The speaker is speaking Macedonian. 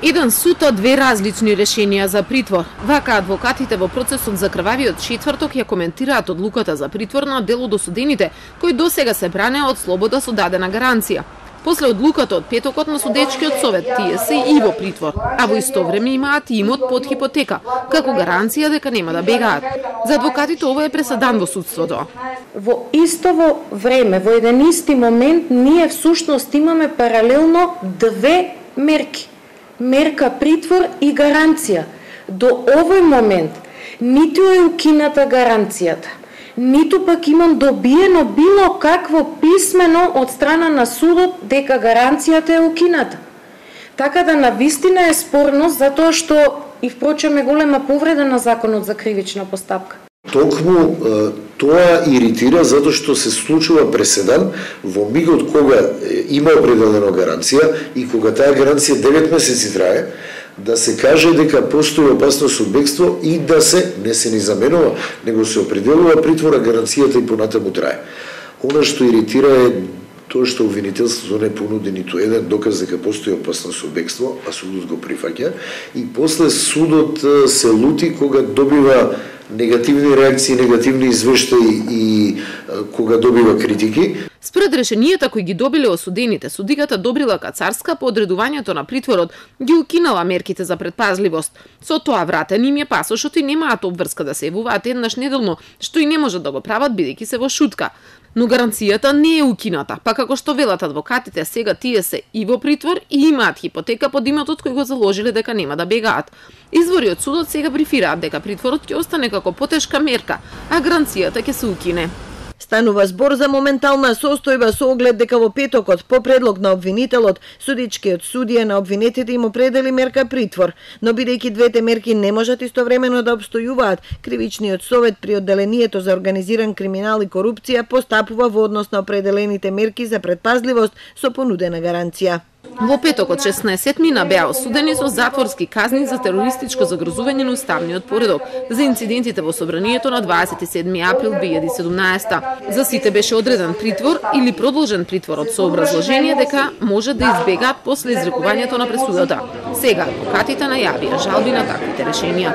Еден суд, две различни решенија за притвор. Вака адвокатите во процесот за крвавиот четврток ја коментираат одлуката за притвор на дел од осудените, кои досега се бранеа од слобода со дадена гаранција. После одлуката од петокот на судечкиот совет, тие се и во притвор, а во исто време имаат имот под хипотека, како гаранција дека нема да бегаат. За адвокатите ова е пресадан во судството. Во истово време, во еден исти момент, ние всушност имаме паралелно две мерки. Мерка притвор и гаранција. До овој момент ниту е укината гаранцијата, ниту пак имам добиено било какво писмено од страна на судот дека гаранцијата е укината. Така да навистина е спорност, затоа што и впрочем е голема повреда на законот за кривична постапка. Токму тоа иритира затоа што се случува преседан во мигот кога има определена гаранција и кога таа гаранција 9 месеци трае, да се каже дека постои опасност од бегство и да се не се ни заменува, него се определува притвора, гаранцијата и понатаму трае. Она што иритира е тоа што обвинителството не понуди ниту еден доказ дека постои опасност од бегство, а судот го прифаќа, и после судот се лути кога добива негативни реакции, негативни извештаи и кога добива критики. Според решенијата кои ги добиле осудените, судиката Добрила Кацарска по одредувањето на притворот ги укинала мерките за предпазливост. Со тоа вратен им е пасошот и немаат обврска да се јавуваат еднаш неделно, што и не можат да го прават бидејќи се во шутка. Но гаранцијата не е укината, па како што велат адвокатите, сега тие се и во притвор и имаат хипотека под имотот кој го заложиле дека нема да бегаат. Извори од судот сега брифираат дека притворот ќе остане како потешка мерка, а гаранцијата ќе се укине. Станува збор за моментална состојба со оглед дека во петокот по предлог на обвинителот судичкиот судија на обвинетите им определи мерка притвор, но бидејќи двете мерки не можат истовремено да обстојуваат, кривичниот совет при одделението за организиран криминал и корупција постапува во однос на определените мерки за предпазливост со понудена гаранција. Во петокот 16 мина беа осудени со затворски казни за терористичко загрозување на уставниот поредок за инцидентите во собранието на 27 април 2017. За сите беше одреден притвор или продолжен притворот со образложение дека може да избегаат после изрекувањето на пресудата. Сега адвокатите најавија жалби на таквите решенија.